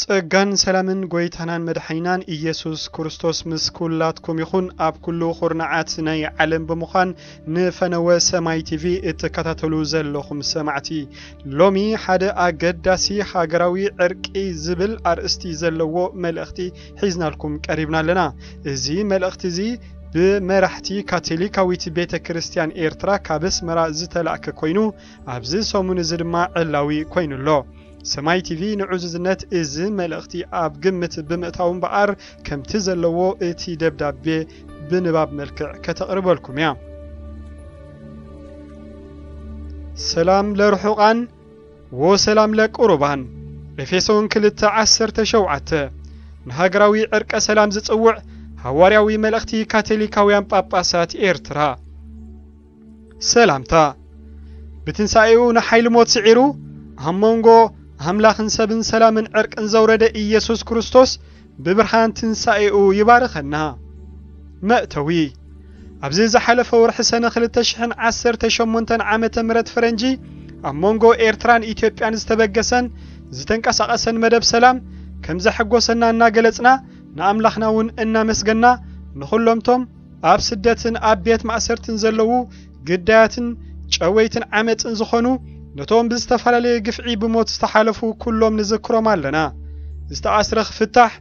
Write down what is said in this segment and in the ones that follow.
ጸጋን ሰላምን ጎይታናን መድሓኒናን ኢየሱስ ክርስቶስ ምስ ኩላትኩም ይኹን። ኣብ ኩሉ ኩርናዓት ናይ ዓለም ብምዃን ንፈነወ ሰማይ ቲቪ እትከታተሉ ዘለኹም ሰማዕቲ፣ ሎሚ ሓደ ኣገዳሲ ሃገራዊ ዕርቂ ዝብል ኣርእስቲ ዘለዎ መልእኽቲ ሒዝናልኩም ቀሪብና ኣለና። እዚ መልእኽቲ እዚ ብመራሕቲ ካቶሊካዊት ቤተ ክርስቲያን ኤርትራ ካብ ኣስመራ ዝተላእከ ኮይኑ፣ ኣብዚ ሰሙን እዚ ድማ ዕላዊ ኮይኑ ኣሎ። ሰማይ ቲቪ ንዕዙዝነት እዚ መልእኽቲ ኣብ ግምት ብምእታው እምበኣር፣ ከምቲ ዘለዎ እቲ ደብዳቤ ብንባብ መልክዕ ከተቕርበልኩም እያ። ሰላም ለርሑቓን ወሰላም ለቅሩባን። ኤፌሶን ክልተ ዓሰርተ ሸውዓተ። ንሃገራዊ ዕርቀ ሰላም ዝጽውዕ ሃዋርያዊ መልእኽቲ ካቶሊካውያን ጳጳሳት ኤርትራ። ሰላምታ። ብትንሳኤኡ ንሓይሊ ሞት ስዒሩ፣ ኣብ መንጎ ኣምላኽን ሰብን ሰላምን ዕርቅን ዘውረደ ኢየሱስ ክርስቶስ ብብርሃን ትንሳኤኡ ይባርኸና። መእተዊ። ኣብዚ ዝሓለፈ ወርሒ ሰነ ክልተ ሽሕን ዓሰርተ ሸሞንተን ዓመተ ምህረት ፈረንጂ፣ ኣብ መንጎ ኤርትራን ኢትዮጵያን ዝተበገሰን ዝተንቀሳቐሰን መደብ ሰላም ከም ዘሐጎሰና እናገለጽና፣ ንኣምላኽና እውን እናመስገና፣ ንኹሎምቶም ኣብ ስደትን ኣብ ቤት ማእሰርትን ዘለዉ ግዳያትን ጨወይትን ዓመጽን ዝኾኑ፣ ነቶም ብዝተፈላለየ ግፍዒ ብሞት ዝተሓለፉ ኩሎም ንዝክሮም ኣለና። ዝተኣስረ ክፍታሕ፣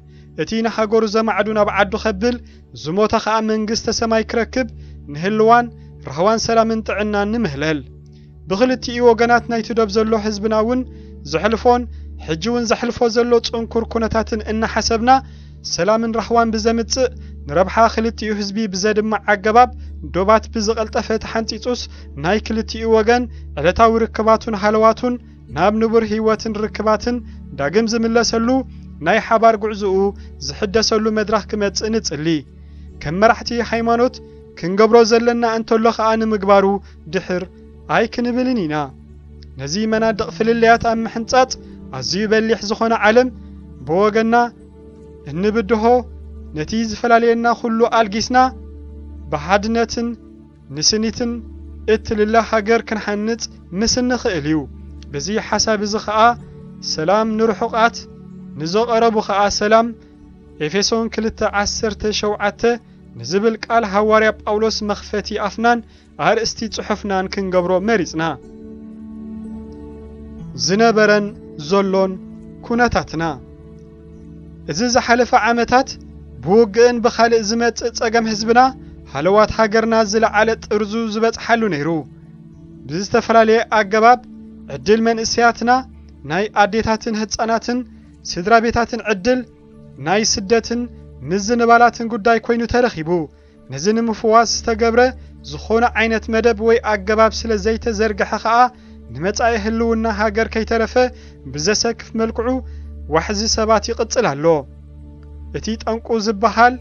እቲ ንሃገሩ ዘማዕዱ ናብ ዓዱ ከብል፣ ዝሞተ ኸኣ መንግስተ ሰማይ ክረክብ፣ ንህልዋን ራህዋን ሰላምን ጥዕናን ንምህለል። ብኽልቲኡ ወገናት ናይቲ ዶብ ዘሎ ህዝብና እውን ዘሕልፎን ሕጂ እውን ዘሕልፎ ዘሎ ጽንኩር ኩነታትን እናሓሰብና፣ ሰላምን ራህዋን ብዘምጽእ፣ ንረብሓ ክልቲኡ ህዝቢ ብዘድምዕ ኣገባብ፣ ዶባት ብዝቐልጠፈ ተሓንጺጹስ፣ ናይ ክልቲኡ ወገን ዕለታዊ ርክባቱን ሃለዋቱን ናብ ንቡር ህይወትን ርክባትን ዳግም ዝምለሰሉ፣ ናይ ሓባር ጉዕዞኡ ዝሕደሰሉ መድረኽ ክመጽእ ንጽሊ። ከም መራሕቲ ሃይማኖት ክንገብሮ ዘለና እንተሎ ኸኣ ንምግባሩ ድሕር ኣይክንብልን ኢና። ነዚ መናድቕ ፍልልያት ኣብ ምሕንጻጽ ኣዝዩ በሊሕ ዝኾነ ዓለም ብወገንና እንብድሆ፣ ነቲ ዝፈላለየና ኩሉ ኣልጊስና ብሓድነትን ንስኒትን እትልለ ሃገር ክንሓንጽ ምስ እንኽእል እዩ። በዚ ሓሳብ እዚ ኸኣ ሰላም ንርሑቓት ንዘቐረቡ ኸኣ ሰላም፣ ኤፌሶን ክልተ ዓሰርተ ሸውዓተ ንዝብል ቃል ሃዋርያ ጳውሎስ መኽፈቲ ኣፍናን ኣርእስቲ ጽሑፍናን ክንገብሮ መሪጽና። ዝነበረን ዘሎን ኩነታትና። እዚ ዝሓለፈ ዓመታት ብውግእን ብኻልእ ዝመጽእ ጸገም ህዝብና፣ ሃለዋት ሃገርና ዝለዓለ ጥርዙ ዝበጽሓሉ ነይሩ። ብዝተፈላለየ ኣገባብ ዕድል መንእሰያትና፣ ናይ ኣዴታትን ህጻናትን፣ ስድራ ቤታትን ዕድል ናይ ስደትን ምዝንባላትን ጉዳይ ኮይኑ ተረኺቡ። ነዚ ንምፍዋስ ዝተገብረ ዝኾነ ዓይነት መደብ ወይ ኣገባብ ስለ ዘይተዘርግሐ ኸኣ፣ ንመጻኢ ህልውና ሃገር ከይተረፈ ብዘሰክፍ መልክዑ ዋሕዚ ሰባት ይቕጽል ኣሎ። እቲ ጠንቁ ዝበሃል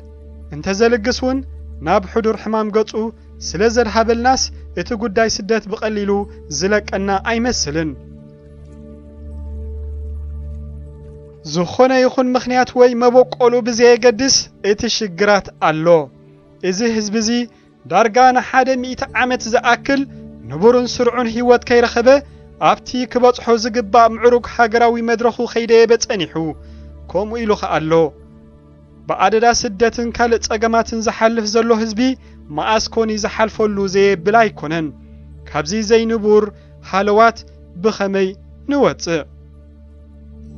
እንተዘልግስ እውን፣ ናብ ሕዱር ሕማም ገጹ ስለ ዘድሃበልናስ፣ እቲ ጉዳይ ስደት ብቐሊሉ ዝለቀና ኣይመስልን። ዝኾነ ይኹን ምኽንያት ወይ መበቆሉ ብዘየገድስ፣ እቲ ሽግራት ኣሎ። እዚ ህዝቢ እዚ ዳርጋ ንሓደ ሚእቲ ዓመት ዝኣክል ንቡርን ስርዑን ህይወት ከይረኸበ፣ ኣብቲ ክበጽሖ ዝግባእ ምዕሩግ ሃገራዊ መድረኹ ከይደየበ ጸኒሑ፣ ከምኡ ኢሉ ኸኣ ኣሎ። ብኣደዳ ስደትን ካልእ ጸገማትን ዝሓልፍ ዘሎ ህዝቢ፣ መኣስ ኮን እዩ ዝሓልፈሉ ዘየብል ኣይኮነን። ካብዚ ዘይንቡር ሃለዋት ብኸመይ ንወጽእ?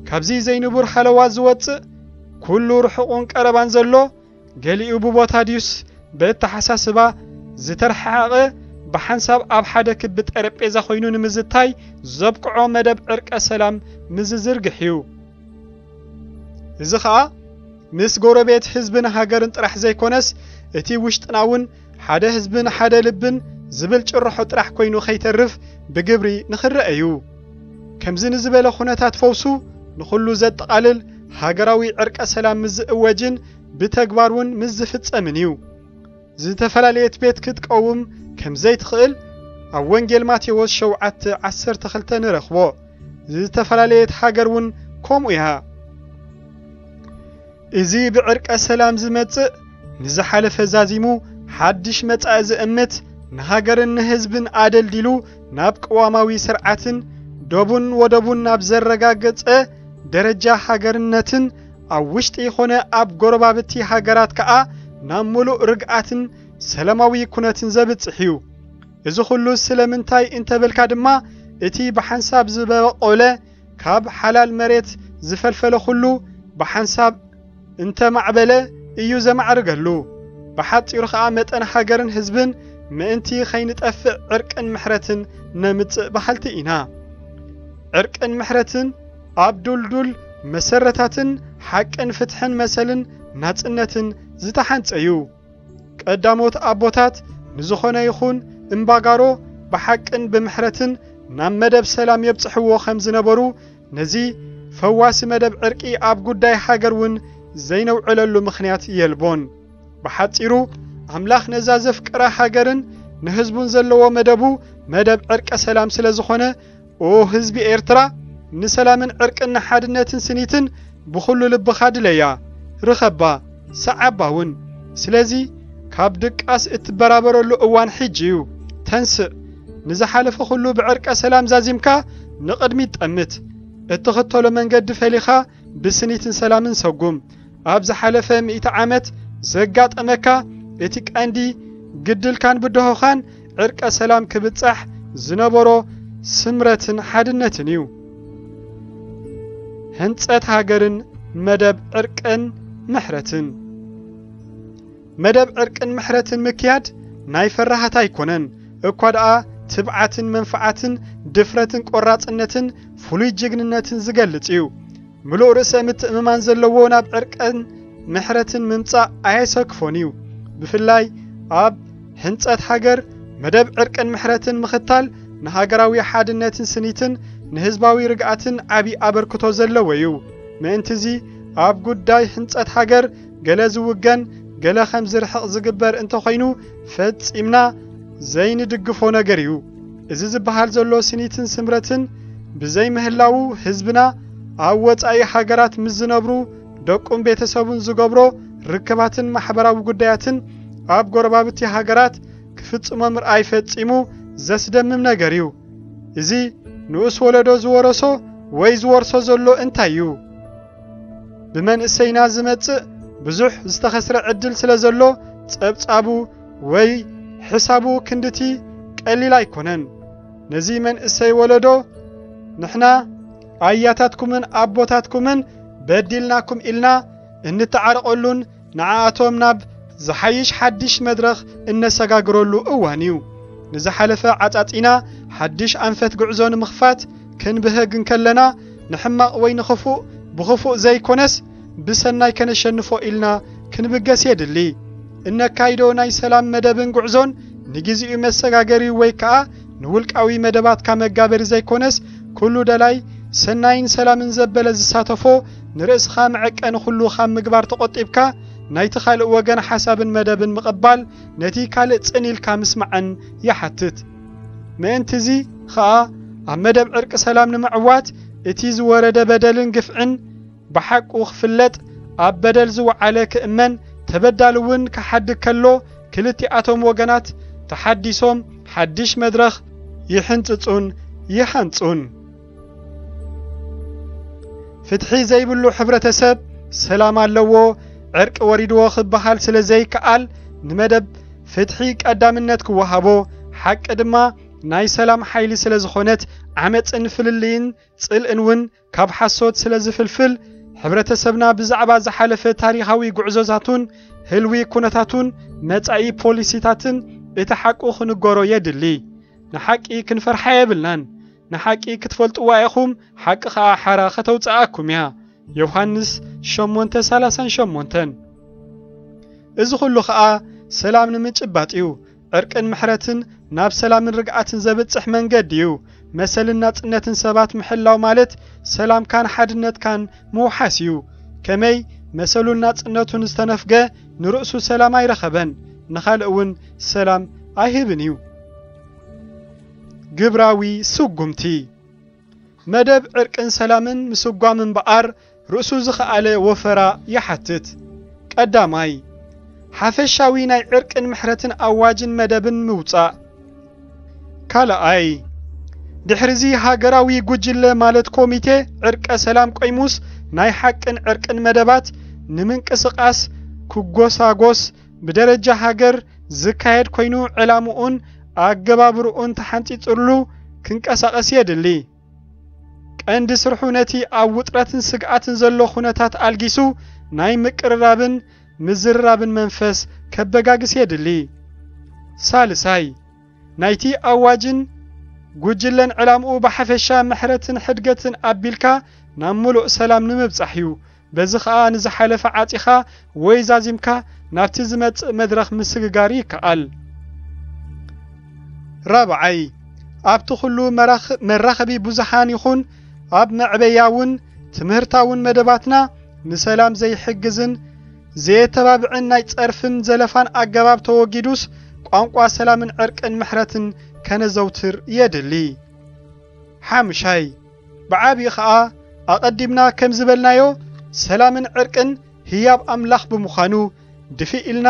ካብዚ ዘይንቡር ሃለዋት ዝወጽእ፣ ኩሉ ርሑቕን ቀረባን ዘሎ፣ ገሊኡ ብቦታ ድዩስ ብእተሓሳስባ ዝተረሓሓቐ፣ ብሓንሳብ ኣብ ሓደ ክቢ ጠረጴዛ ኮይኑ ንምዝታይ ዘብቅዖ መደብ ዕርቀ ሰላም ምዝዝርግሕ እዩ። እዚ ኸኣ ምስ ጎረቤት ህዝብን ሃገርን ጥራሕ ዘይኮነስ፣ እቲ ውሽጥና እውን ሓደ ህዝብን ሓደ ልብን ዝብል ጭርሖ ጥራሕ ኮይኑ ከይተርፍ ብግብሪ ንኽረአ እዩ። ከምዚ ንዝበለ ኩነታት ፈውሱ ንኹሉ ዘጠቓልል ሃገራዊ ዕርቀ ሰላም ምስ ዝእወጅን ብተግባር እውን ምስ ዝፍጸምን እዩ። ዝተፈላለየት ቤት ክትቀውም ከም ዘይትኽእል ኣብ ወንጌል ማቴዎስ ሸውዓተ ዓሰርተ ክልተ ንረኽቦ። ዝተፈላለየት ሃገር እውን ከምኡ እያ። እዚ ብዕርቀ ሰላም ዝመጽእ፣ ንዝሓለፈ ዛዚሙ ሓድሽ መጻኢ ዝእምት፣ ንሃገርን ንህዝብን ኣደልዲሉ ናብ ቅዋማዊ ስርዓትን ዶቡን ወደቡን ናብ ዘረጋገጸ ደረጃ ሃገርነትን ኣብ ውሽጢ ይኾነ ኣብ ጎረባብቲ ሃገራት ከኣ ናብ ምሉእ ርግኣትን ሰላማዊ ኩነትን ዘብጽሕ እዩ። እዚ ኩሉ ስለምንታይ እንተበልካ ድማ፣ እቲ ብሓንሳብ ዝበቆለ ካብ ሓላል መሬት ዝፈልፈለ ኩሉ ብሓንሳብ እንተማዕበለ እዩ ዘማዕርገሉ። ብሓጺሩ ኸኣ መጠን ሃገርን ህዝብን ምእንቲ ኸይንጠፍእ ዕርቅን ምሕረትን ነምጽእ በሃልቲ ኢና። ዕርቅን ምሕረትን ኣብ ዱልዱል መሰረታትን ሓቅን ፍትሕን መሰልን ናጽነትን ዝተሓንጸ እዩ። ቀዳሞት ኣቦታት ንዝኾነ ይኹን እምባጋሮ ብሓቅን ብምሕረትን ናብ መደብ ሰላም የብጽሕዎ ከም ዝነበሩ፣ ነዚ ፈዋሲ መደብ ዕርቂ ኣብ ጉዳይ ሃገር እውን ዘይነውዕለሉ ምኽንያት የልቦን። ብሓጺሩ፣ ኣምላኽ ነዛ ዘፍቅራ ሃገርን ንህዝቡን ዘለዎ መደቡ መደብ ዕርቀ ሰላም ስለ ዝኾነ፣ ኦ ህዝቢ ኤርትራ፣ ንሰላምን ዕርቅን ንሓድነትን ስኒትን ብኹሉ ልብኻ ድለያ፣ ርኸባ፣ ሰዓባ እውን። ስለዚ ካብ ድቃስ እትበራበረሉ እዋን ሕጂ እዩ። ተንስእ፣ ንዝሓለፈ ኩሉ ብዕርቀ ሰላም ዛዚምካ ንቕድሚት ጠምት። እትኽተሎ መንገዲ ፈሊኻ ብስኒትን ሰላምን ሰጉም። ኣብ ዝሓለፈ ሚእቲ ዓመት ዘጋጠመካ እቲ ቀንዲ ግድልካን ብድሆኻን ዕርቀ ሰላም ክብጻሕ ዝነበሮ ስምረትን ሓድነትን እዩ። ህንጸት ሃገርን መደብ ዕርቅን ምሕረትን። መደብ ዕርቅን ምሕረትን ምክያድ ናይ ፈራሃት ኣይኮነን፣ እኳ ደኣ ትብዓትን መንፍዓትን ድፍረትን ቆራጽነትን ፍሉይ ጅግንነትን ዝገልጽ እዩ። ምሉእ ርእሰ ምትእምማን ዘለዎ ናብ ዕርቅን ምሕረትን ምምጻእ ኣየሰክፎን እዩ። ብፍላይ ኣብ ህንጸት ሃገር መደብ ዕርቅን ምሕረትን ምኽታል ንሃገራዊ ሓድነትን ስኒትን ንህዝባዊ ርግኣትን ዓቢ ኣበርክቶ ዘለዎ እዩ። ምእንትዚ ኣብ ጉዳይ ህንጸት ሃገር ገለ ዝውገን ገለ ከም ዝርሕቕ ዝግበር እንተኾይኑ ፈጺምና ዘይንድግፎ ነገር እዩ። እዚ ዝበሃል ዘሎ ስኒትን ስምረትን ብዘይምህላዉ ህዝብና ኣብ ወጻኢ ሃገራት ምስ ዝነብሩ ደቁን ቤተሰቡን ዝገብሮ ርክባትን ማሕበራዊ ጉዳያትን ኣብ ጎረባብቲ ሃገራት ክፍጽሞ ምርኣይ ፈጺሙ ዘስደምም ነገር እዩ። እዚ ንኡስ ወለዶ ዝወረሶ ወይ ዝወርሶ ዘሎ እንታይ እዩ? ብመንእሰይና ዝመጽእ ብዙሕ ዝተኸስረ ዕድል ስለ ዘሎ ጸብጻቡ ወይ ሕሳቡ ክንድቲ ቀሊል ኣይኮነን። ነዚ መንእሰይ ወለዶ ንሕና ኣያታትኩምን ኣቦታትኩምን በዲልናኩም ኢልና እንተዓረቐሉን ንዓኣቶም ናብ ዝሓይሽ ሓድሽ መድረኽ እነሰጋግረሉ እዋን እዩ። ንዝሓለፈ ዓጻጺና ሓድሽ ኣንፈት ጉዕዞ ንምኽፋት ክንብህግ እንከለና ንሕማቕ ወይ ንኽፉእ ብኽፉእ ዘይኮነስ ብሰናይ ከነሸንፎ ኢልና ክንብገስ የድሊ። እነካይዶ ናይ ሰላም መደብን ጉዕዞን ንግዚኡ መሰጋገሪ ወይ ከኣ ንውልቃዊ መደባትካ መጋበሪ ዘይኮነስ ኩሉ ደላይ ሰናይን ሰላምን ዘበለ ዝሳተፎ ንርእስኻ መዐቀኒ ኩሉ ካብ ምግባር ተቖጢብካ ናይቲ ካልእ ወገን ሓሳብን መደብን ምቕባል ነቲ ካልእ ጽን ኢልካ ምስማዕን ይሓትት። ምእንትዚ ኸኣ ኣብ መደብ ዕርቂ ሰላም ንምዕዋት እቲ ዝወረደ በደልን ግፍዕን ብሓቁ ክፍለጥ ኣብ በደል ዝወዓለ ክእመን ተበዳሊ እውን ክሓድግ ከሎ ክልቲኣቶም ወገናት ተሓዲሶም ሓድሽ መድረኽ ይሕንጽጹን ይሃንጹን። ፍትሒ ዘይብሉ ሕብረተሰብ ሰላም ኣለዎ፣ ዕርቂ ወሪድዎ ክበሃል ስለ ዘይከኣል ንመደብ ፍትሒ ቀዳምነት ክወሃቦ፣ ሓቂ ድማ ናይ ሰላም ሓይሊ ስለ ዝኾነት ዓመጽን ፍልልይን ጽልእን እውን ካብ ሓሶት ስለ ዝፍልፍል፣ ሕብረተሰብና ብዛዕባ ዝሓለፈ ታሪኻዊ ጉዕዞታቱን ህልዊ ኩነታቱን መጻኢ ፖሊሲታትን እቲ ሓቁ ክንገሮ የድሊ። ንሓቂ ክንፈርሓ የብልናን። ንሓቂ ክትፈልጥዋ ኢኹም፣ ሓቂ ኸኣ ሓራ ከተውጽኣኩም እያ። ዮሃንስ ሸሞንተ ሰላሳን ሸሞንተን። እዚ ኹሉ ኸኣ ሰላም ንምጭባጥ እዩ። ዕርቅን ምሕረትን ናብ ሰላምን ርግኣትን ዘብጽሕ መንገዲ እዩ። መሰልን ናጽነትን ሰባት ምሕላው ማለት ሰላምካን ሓድነትካን ምውሓስ እዩ። ከመይ መሰሉን ናጽነቱን ዝተነፍገ ንርእሱ ሰላም ኣይረኸበን፣ ንኻልእ እውን ሰላም ኣይህብን እዩ። ግብራዊ ስጉምቲ። መደብ ዕርቅን ሰላምን ምስጓም እምበኣር ርእሱ ዝኸኣለ ወፈራ ይሓትት። ቀዳማይ፣ ሓፈሻዊ ናይ ዕርቅን ምሕረትን ኣዋጅን መደብን ምውጻእ። ካልኣይ፣ ድሕሪዚ ሃገራዊ ጉጅለ ማለት ኮሚቴ ዕርቀ ሰላም ቆይሙስ ናይ ሓቅን ዕርቅን መደባት ንምንቅስቃስ ክጎሳጎስ ብደረጃ ሃገር ዝካየድ ኮይኑ ዕላምኡን ኣገባብርኡን ተሓንጺጽሉ ክንቀሳቀስ የድሊ። ቀንዲ ስርሑ ነቲ ኣብ ውጥረትን ስግኣትን ዘሎ ኩነታት ኣልጊሱ ናይ ምቅርራብን ምዝርራብን መንፈስ ከበጋግስ የድሊ። ሳልሳይ፣ ናይቲ ኣዋጅን ጉጅለን ዕላምኡ ብሓፈሻ ምሕረትን ሕድገትን ኣቢልካ ናብ ምሉእ ሰላም ንምብጻሕ እዩ። በዚ ኸኣ ንዝሓለፈ ዓጺኻ ወይ ዛዚምካ ናብቲ ዝመጽእ መድረኽ ምስግጋር ይከኣል። ራብዓይ፣ ኣብቲ ኩሉ መራኽ-፣ መራኸቢ ብዙሓን ይኹን ኣብ መዕበያውን ትምህርታውን መደባትና ንሰላም ዘይሕግዝን ዘየተባብዕን ናይ ጸርፍን ዘለፋን ኣገባብ ተወጊዱስ ቋንቋ ሰላምን ዕርቅን ምሕረትን ከነዘውትር የድሊ። ሓምሻይ፣ ብዓቢኡ ኸኣ ኣቐዲምና ከም ዝበልናዮ ሰላምን ዕርቅን ህያብ ኣምላኽ ብምዃኑ ድፍእ ኢልና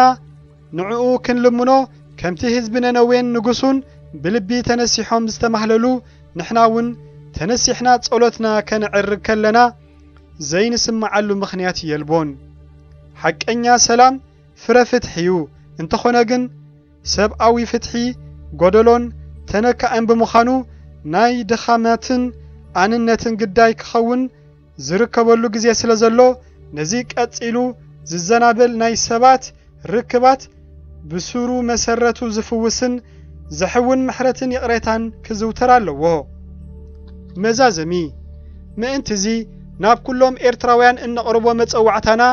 ንዕኡ ክንልምኖ ከምቲ ህዝቢ ነነዌን ንጉሱን ብልቢ ተነሲሖም ዝተማህለሉ ንሕና እውን ተነሲሕና ጸሎትና ከነዕርግ ከለና ዘይንስምዓሉ ምኽንያት የልቦን። ሓቀኛ ሰላም ፍረ ፍትሒ እዩ። እንተኾነ ግን ሰብኣዊ ፍትሒ ጎደሎን ተነካእን ብምዃኑ ናይ ድኻማትን ኣንነትን ግዳይ ክኸውን ዝርከበሉ ግዜ ስለ ዘሎ ነዚ ቀጺሉ ዝዘናበል ናይ ሰባት ርክባት ብሱሩ መሰረቱ ዝፍውስን ዘሕውን ምሕረትን ይቕሬታን ክዝውተር ኣለዎ። መዛዘሚ፣ ምእንትዚ ናብ ኩሎም ኤርትራውያን እነቕርቦ መጸዋዕታና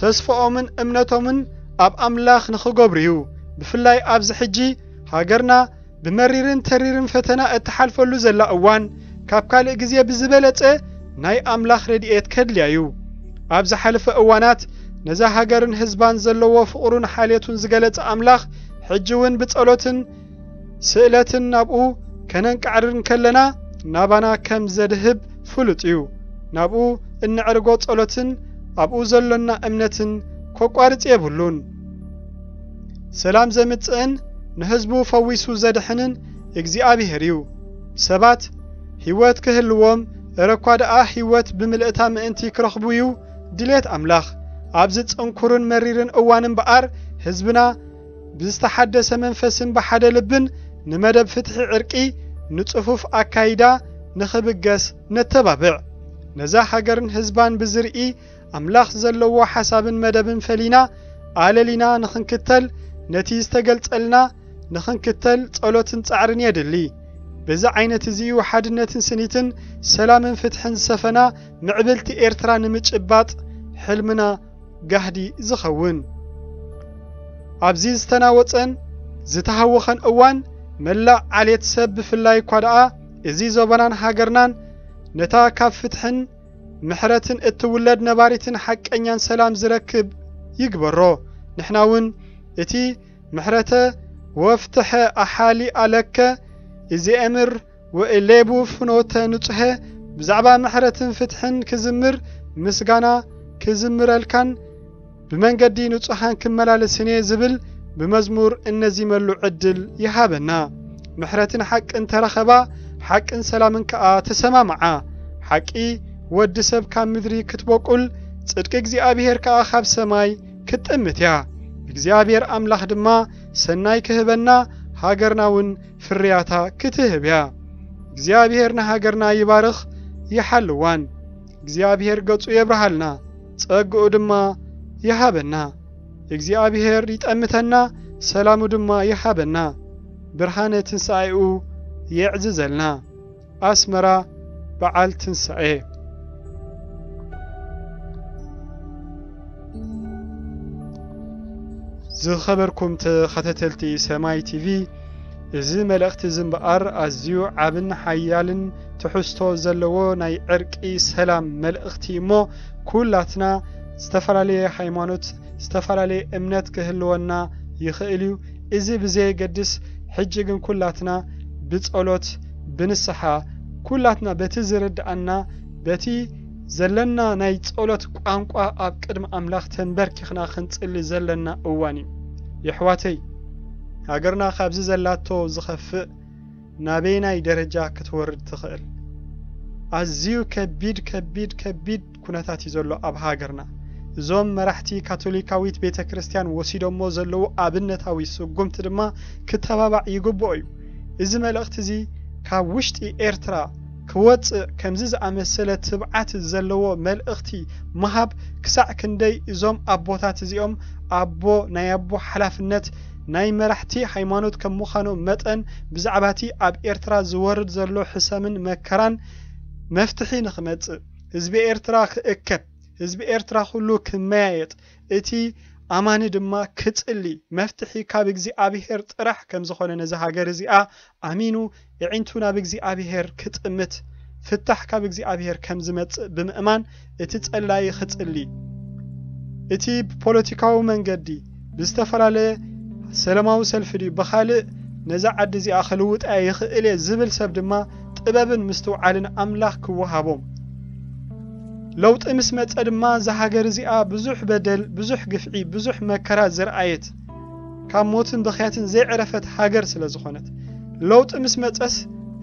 ተስፋኦምን እምነቶምን ኣብ ኣምላኽ ንኽገብሩ እዩ። ብፍላይ ኣብዚ ሕጂ ሃገርና ብመሪርን ተሪርን ፈተና እትሓልፈሉ ዘላ እዋን፣ ካብ ካልእ ግዜ ብዝበለጸ ናይ ኣምላኽ ረድኤት ከድልያ እዩ። ኣብ ዝሓለፈ እዋናት ነዛ ሃገርን ህዝባን ዘለዎ ፍቕሩን ሓልየቱን ዝገለጸ ኣምላኽ፣ ሕጂ እውን ብጸሎትን ስእለትን ናብኡ ከነንቃዕርር እንከለና፣ ናባና ከም ዘድህብ ፍሉጥ እዩ። ናብኡ እንዕርጎ ጸሎትን ኣብኡ ዘሎና እምነትን ከቋርጽ የብሉን። ሰላም ዘምጽእን ንህዝቡ ፈዊሱ ዘድሕንን እግዚኣብሔር እዩ። ሰባት ህይወት ክህልዎም፣ እረ እኳ ደኣ ህይወት ብምልእታ ምእንቲ ክረኽቡ እዩ ድሌት ኣምላኽ። ኣብዚ ጽንኩርን መሪርን እዋን እምበኣር፣ ህዝብና ብዝተሓደሰ መንፈስን ብሓደ ልብን ንመደብ ፍትሒ ዕርቂ፣ ንጽፉፍ ኣካይዳ ንኽብገስ ነተባብዕ። ነዛ ሃገርን ህዝባን ብዝርኢ ኣምላኽ ዘለዎ ሓሳብን መደብን ፈሊና ኣለሊና ንኽንክተል፣ ነቲ ዝተገልጸልና ንኽንክተል ጸሎትን ጻዕርን የድሊ። በዚ ዓይነት እዚ እዩ ሓድነትን ስኒትን ሰላምን ፍትሕን ዝሰፈና ምዕብልቲ ኤርትራ ንምጭባጥ ሕልምና ጋህዲ ዝኸውን። ኣብዚ ዝተናወጸን ዝተሃወኸን እዋን፣ መላእ ዓሌት ሰብ ብፍላይ እኳ ደኣ እዚ ዞባናን ሃገርናን ነታ ካብ ፍትሕን ምሕረትን እትውለድ ነባሪትን ሓቀኛን ሰላም ዝረክብ ይግበሮ። ንሕና እውን እቲ ምሕረተ ወፍትሐ ኣሓሊ ኣለከ እዚ ኤምር ወእሌቡ ፍኖተ ንጹሐ ብዛዕባ ምሕረትን ፍትሕን ክዝምር ምስጋና ክዝምረልካን ብመንገዲ ንጹሓን ክመላለስን እየ ዝብል ብመዝሙር እነዚመሉ ዕድል ይሃበና። ምሕረትን ሓቅን ተራኸባ፣ ሓቅን ሰላምን ከኣ ተሰማምዓ። ሓቂ ወዲ ሰብ ካብ ምድሪ ክትበቁል፣ ጽድቂ እግዚኣብሔር ከኣ ካብ ሰማይ ክትጥምት እያ። እግዚኣብሔር ኣምላኽ ድማ ሰናይ ክህበና፣ ሃገርና እውን ፍርያታ ክትህብ እያ። እግዚኣብሔር ንሃገርና ይባርኽ ይሓልዋን። እግዚኣብሔር ገጹ የብርሃልና፣ ጸግኡ ድማ ይሃበና። እግዚኣብሔር ይጠምተና፣ ሰላሙ ድማ ይሃበና። ብርሃነ ትንሳኤኡ የዕዝዘልና። ኣስመራ በዓል ትንሳኤ። ዝኸበርኩም ተኸታተልቲ ሰማይ ቲቪ፣ እዚ መልእኽቲ እዚ እምበኣር ኣዝዩ ዓብን ሓያልን ትሕዝቶ ዘለዎ ናይ ዕርቂ ሰላም መልእኽቲ እሞ፣ ኩላትና ዝተፈላለየ ሃይማኖት፣ ዝተፈላለየ እምነት ክህልወና ይኽእል እዩ። እዚ ብዘየገድስ፣ ሕጂ ግን ኩላትና ብጸሎት፣ ብንስሓ፣ ኩላትና በቲ ዝርድኣና፣ በቲ ዘለና ናይ ጸሎት ቋንቋ ኣብ ቅድሚ ኣምላኽ ተንበርኪኽና ክንጽሊ ዘለና እዋን እዩ። የሕዋተይ፣ ሃገርና ካብዚ ዘላቶ ዝኸፍእ ናበየናይ ደረጃ ክትወርድ ትኽእል? ኣዝዩ ከቢድ ከቢድ ከቢድ ኩነታት እዩ ዘሎ ኣብ ሃገርና። እዞም መራሕቲ ካቶሊካዊት ቤተ ክርስቲያን ወሲዶሞ ዘለዉ ኣብነታዊ ስጉምቲ ድማ ክተባባዕ ይግብኦ እዩ። እዚ መልእኽቲ እዚ ካብ ውሽጢ ኤርትራ ክወጽእ ከምዚ ዝኣመሰለ ትብዓት ዘለዎ መልእኽቲ ምሃብ ክሳዕ ክንደይ እዞም ኣቦታት እዚኦም ኣቦ ናይ ኣቦ ሓላፍነት ናይ መራሕቲ ሃይማኖት ከም ምዃኖም መጠን ብዛዕባ እቲ ኣብ ኤርትራ ዝወርድ ዘሎ ሕሰምን መከራን መፍትሒ ንኽመጽእ ህዝቢ ኤርትራ ክእከብ ህዝቢ ኤርትራ ኩሉ ክመያየጥ እቲ ኣማኒ ድማ ክጽሊ መፍትሒ ካብ እግዚኣብሔር ጥራሕ ከም ዝኾነ ነዚ ሃገር እዚኣ ኣሚኑ የዒንቱ ናብ እግዚኣብሔር ክጥምት ፍታሕ ካብ እግዚኣብሔር ከም ዝመጽእ ብምእማን እቲ ጸላይ ክጽሊ እቲ ብፖለቲካዊ መንገዲ ብዝተፈላለየ ሰላማዊ ሰልፊ ድዩ ብኻልእ ነዛ ዓዲ እዚኣ ክልውጣ ይኽእል እየ ዝብል ሰብ ድማ ጥበብን ምስትውዓልን ኣምላኽ ክወሃቦም ለውጢ ምስ መጸ ድማ እዛ ሃገር እዚኣ ብዙሕ በደል ብዙሕ ግፍዒ ብዙሕ መከራ ዝረኣየት ካብ ሞትን ብኽያትን ዘይዕረፈት ሃገር ስለ ዝኾነት ለውጢ ምስ መጸስ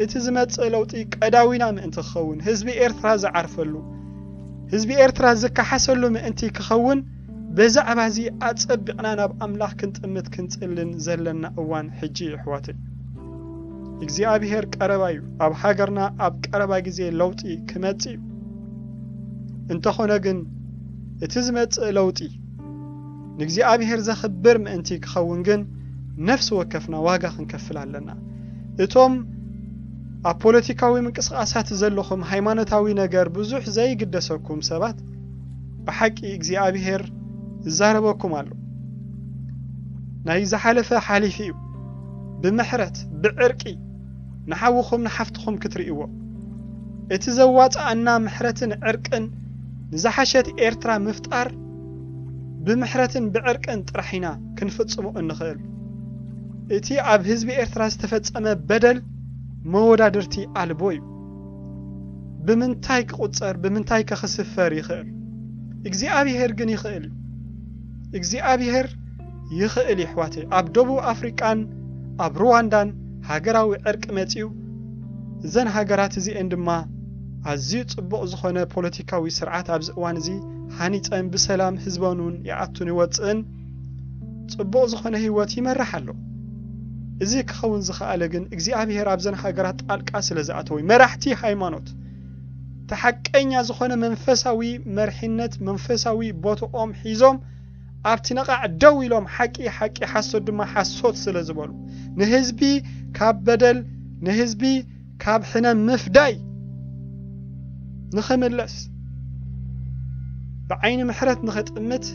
እቲ ዝመጽእ ለውጢ ቀዳዊና ምእንቲ ክኸውን ህዝቢ ኤርትራ ዝዓርፈሉ ህዝቢ ኤርትራ ዝከሓሰሉ ምእንቲ ክኸውን ብዛዕባ እዚ ኣጸቢቕና ናብ ኣምላኽ ክንጥምት ክንጽልን ዘለና እዋን ሕጂ እዩ ኣሕዋተይ። እግዚኣብሔር ቀረባ እዩ። ኣብ ሃገርና ኣብ ቀረባ ግዜ ለውጢ ክመጽእ እዩ። እንተኾነ ግን እቲ ዝመጽእ ለውጢ ንእግዚኣብሔር ዘኽብር ምእንቲ ክኸውን ግን ነፍሲ ወከፍና ዋጋ ክንከፍል ኣለና። እቶም ኣብ ፖለቲካዊ ምንቅስቓሳት ዘለኹም ሃይማኖታዊ ነገር ብዙሕ ዘይግደሰኩም ሰባት ብሓቂ እግዚኣብሔር ይዛረበኩም ኣሎ። ናይ ዝሓለፈ ሓሊፉ እዩ። ብምሕረት ብዕርቂ ንሓውኹም ንሓፍትኹም ክትርእይዎ እቲ ዘዋፅኣና ምሕረትን ዕርቅን ንዝሓሸት ኤርትራ ምፍጣር ብምሕረትን ብዕርቅን ጥራሕ ኢና ክንፍጽሞ እንኽእል። እቲ ኣብ ህዝቢ ኤርትራ ዝተፈጸመ በደል መወዳድርቲ ኣልቦ እዩ። ብምንታይ ክቑጸር ብምንታይ ከ ክስፈር ይኽእል? እግዚኣብሄር ግን ይኽእል እዩ። እግዚኣብሄር ይኽእል እዩ ኣሕዋተይ። ኣብ ደቡብ ኣፍሪቃን ኣብ ሩዋንዳን ሃገራዊ ዕርቂ መጺኡ እዘን ሃገራት እዚኤን ድማ ኣዝዩ ጽቡቕ ዝኾነ ፖለቲካዊ ስርዓት ኣብዚ እዋን እዚ ሃኒጸን ብሰላም ህዝበን እውን ይኣቱን ይወጽእን ጽቡቕ ዝኾነ ህይወት ይመርሕ ኣሎ። እዚ ክኸውን ዝኸኣለ ግን እግዚኣብሄር ኣብዘን ሃገራት ጣልቃ ስለ ዝኣተወ እዩ። መራሕቲ ሃይማኖት እቲ ሓቀኛ ዝኾነ መንፈሳዊ መርሒነት መንፈሳዊ ቦትኦም ሒዞም ኣብቲ ነቓዕ ደው ኢሎም ሓቂ ሓቂ ሓሶት ድማ ሓሶት ስለ ዝበሉ ንህዝቢ ካብ በደል ንህዝቢ ካብ ሕነ ምፍዳይ ንኽምለስ ብዓይኒ ምሕረት ንኽጥምት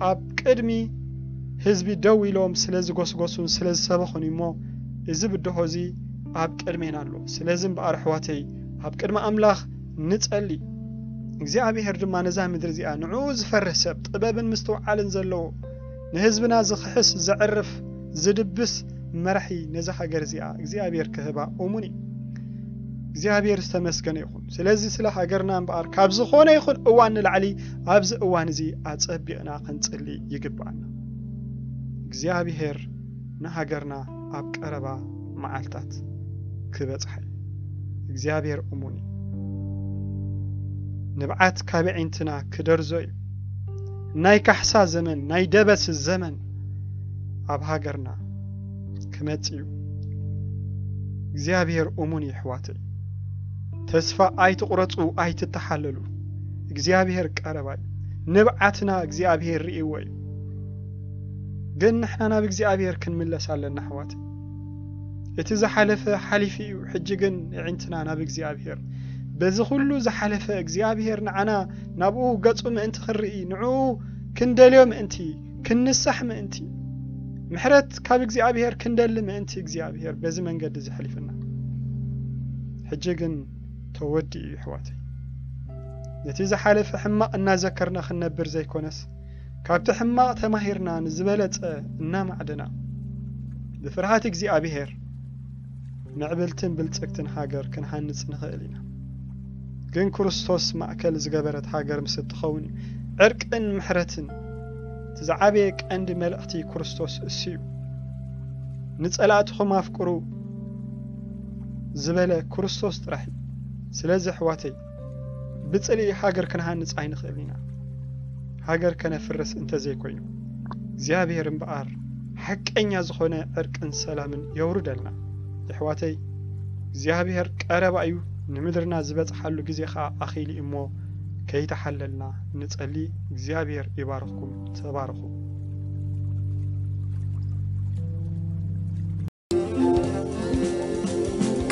ኣብ ቅድሚ ህዝቢ ደው ኢሎም ስለ ዝጎስጎሱን ስለ ዝሰበኹን እሞ እዚ ብድሆ እዚ ኣብ ቅድሜና ኣሎ። ስለዚ እምበኣር ኣሕዋተይ ኣብ ቅድሚ ኣምላኽ ንጸሊ። እግዚኣብሔር ድማ ነዛ ምድሪ እዚኣ ንዕኡ ዝፈርህ ሰብ ጥበብን ምስትውዓልን ዘለዎ ንህዝብና ዝኽሕስ ዘዕርፍ ዝድብስ መራሒ ነዛ ሃገር እዚኣ እግዚኣብሔር ክህባ እሙን እዩ። እግዚኣብሔር ዝተመስገነ ይኹን። ስለዚ ስለ ሃገርና እምበኣር ካብ ዝኾነ ይኹን እዋን ንላዕሊ ኣብዚ እዋን እዚ ኣጸቢቕና ክንጽሊ ይግብኣና። እግዚኣብሔር ንሃገርና ኣብ ቀረባ መዓልታት ክበጽሓ እዩ። እግዚኣብሔር እሙን እዩ። ንብዓት ካብ ኣዒንትና ክደርዞ እዩ። ናይ ካሕሳ ዘመን ናይ ደበስ ዘመን ኣብ ሃገርና ክመጽእ እዩ። እግዚኣብሔር እሙን እዩ ኣሕዋተይ። ተስፋ ኣይትቑረጹ ኣይትተሓለሉ። እግዚኣብሔር ቀረባ እዩ። ንብዓትና እግዚኣብሔር ርእይዎ እዩ። ግን ንሕና ናብ እግዚኣብሔር ክንምለስ ኣለና ኣሕዋተይ። እቲ ዝሓለፈ ሓሊፉ እዩ። ሕጂ ግን ኣዒንትና ናብ እግዚኣብሔር በዚ ኩሉ ዝሓለፈ እግዚኣብሔር ንዓና ናብኡ ገጹ ምእንቲ ክንርኢ ንዕኡ ክንደልዮ ምእንቲ ክንንሳሕ ምእንቲ ምሕረት ካብ እግዚኣብሔር ክንደሊ ምእንቲ እግዚኣብሔር በዚ መንገዲ እዚ ሓሊፍና። ሕጂ ግን ተወዲኡ እዩ ኣሕዋተይ። ነቲ ዝሓለፈ ሕማቕ እናዘከርና ክንነብር ዘይኮነስ ካብቲ ሕማቕ ተማሂርና ንዝበለጸ እናማዕደና ብፍርሃት እግዚኣብሔር ምዕብልትን ብልጽግትን ሃገር ክንሃንጽ ንኽእል ኢና። ግን ክርስቶስ ማእከል ዝገበረት ሃገር ምስ እትኸውን እዩ። ዕርቅን ምሕረትን እቲ ዝዓበየ ቀንዲ መልእኽቲ ክርስቶስ እሱ እዩ። ንጸላእትኹም ኣፍቅሩ፣ ዝበለ ክርስቶስ ጥራሕ እዩ። ስለዚ ኣሕዋተይ፣ ብጽልኢ ሃገር ክንሃንጽ ኣይንኽእልን ኢና። ሃገር ከነፍርስ እንተዘይኮይኑ፣ እግዚኣብሔር እምበኣር ሓቀኛ ዝኾነ ዕርቅን ሰላምን የውርደልና። የሕዋተይ፣ እግዚኣብሔር ቀረባ እዩ፣ ንምድርና ዝበጽሓሉ ግዜ ኸኣ ኣኺሉ እዩ እሞ፣ ከይተሓለልና ንጸሊ። እግዚኣብሔር ይባርኽኩም። ተባረኹ።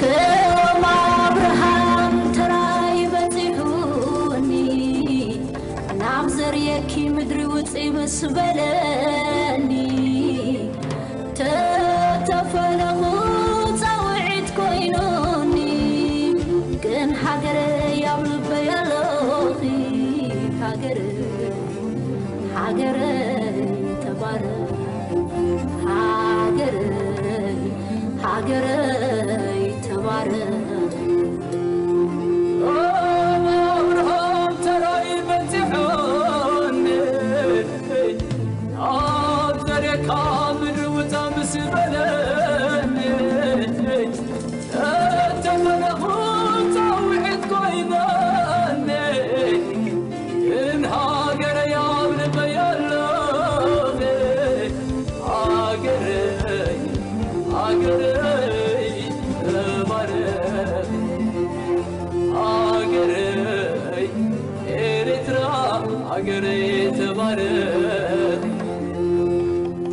ከም ኣብርሃም ተራይ በጺሑኒ፣ ናብ ዘርእየኪ ምድሪ ውጺ ምስ በለኒ፣ ተተፈለኹ ጻውዒት ኮይኑኒ፣ ግን ሃገረይ ኣብ ልበይ ኣለኺ፣ ሃገረይ፣ ሃገረይ ተባረኽ፣ ሃገረይ፣ ሃገረይ ተባረኽ። ኣብርሃም ተራይ በጺሑኒ፣ ኣብ ዘርእካ ምድሪ ውጻ ምስ በለኒ፣ እተመነኹ ጻውዒት ኮይናኒ፣ ግን ሃገረይ ኣብ ልበይ ኣለኺ፣ ሃገረይ፣ ሃገረይ ተባረኺ፣ ሃገረይ ኤርትራ ሃገረይ ተባረኺ።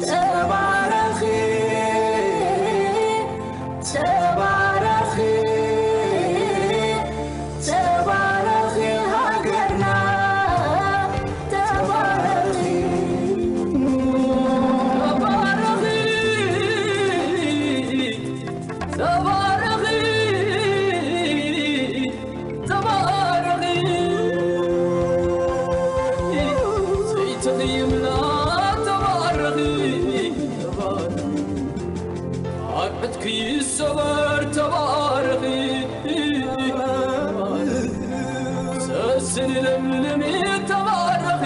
ተባረኺ፣ ተባረኺ፣ ተባረኺ ሃገርና፣ ተባረኺ። ተባረኺ፣ ተባረኺ፣ ተባረኺ፣ ዘይትቕይምና ተባረኺ፣ ተባረኺ። ኣርዕድኪ ይሰበር ተባረኺ፣ ሰስኒ ለምልሚ ተባረኺ፣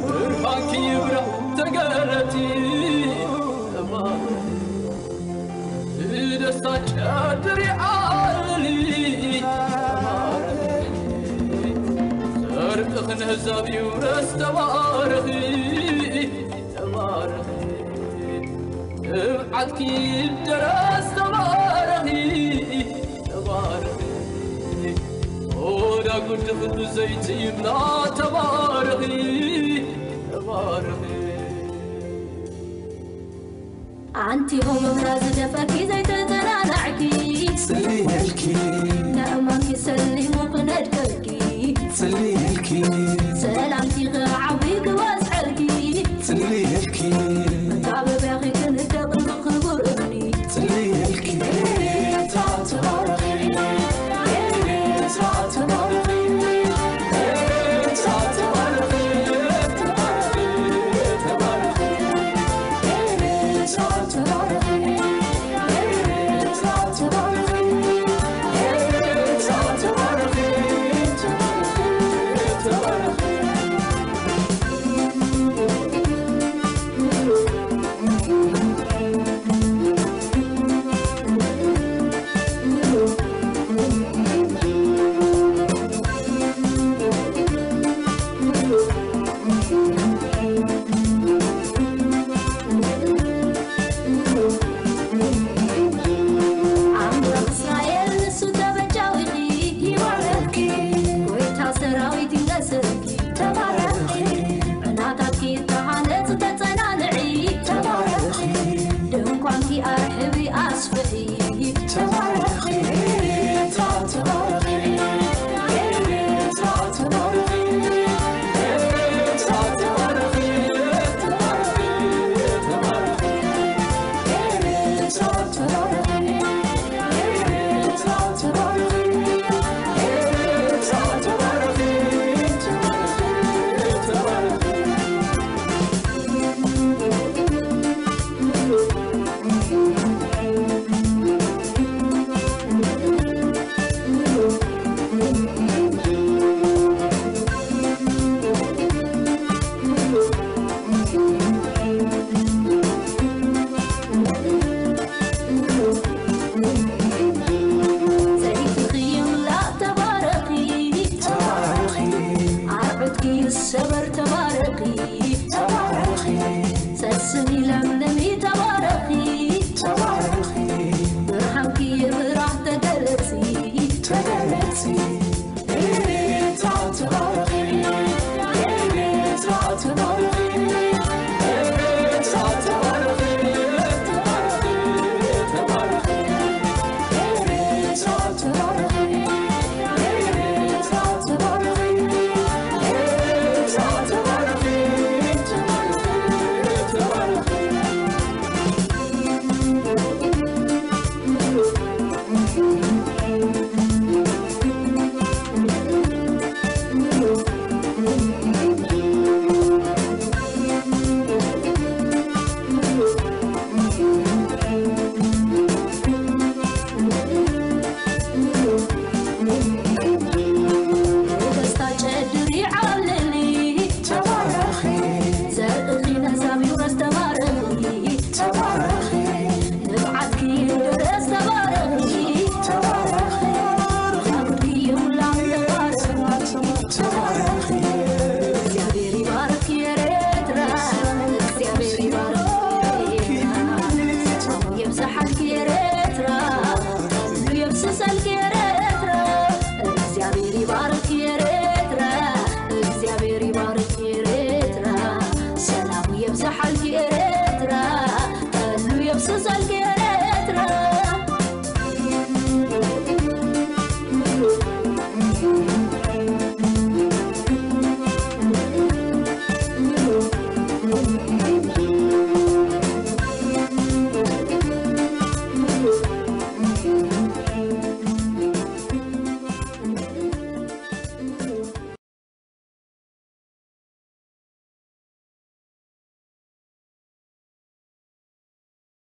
ብርሃንኪ ይብራህ ተገለጢ፣ ተባረኺ። ብደስታ ጨድሪ ዓልሊ፣ ተባረኺ። ጽድቅኺ ንህዛብ ይውረስ ተባረኺ፣ ተባረኺ። ትብዓትኪ ይደረስ ተባረኺ፣ ተባረኺ። ኦዳ ጉድኺ ብዘይቲ ይምላ ተባረኺ፣ ተባረኺ። ኣንቲ ሆሞና ዝደፈኪ ዘይተጸናናዕኪ፣ ሰሊሀልኪ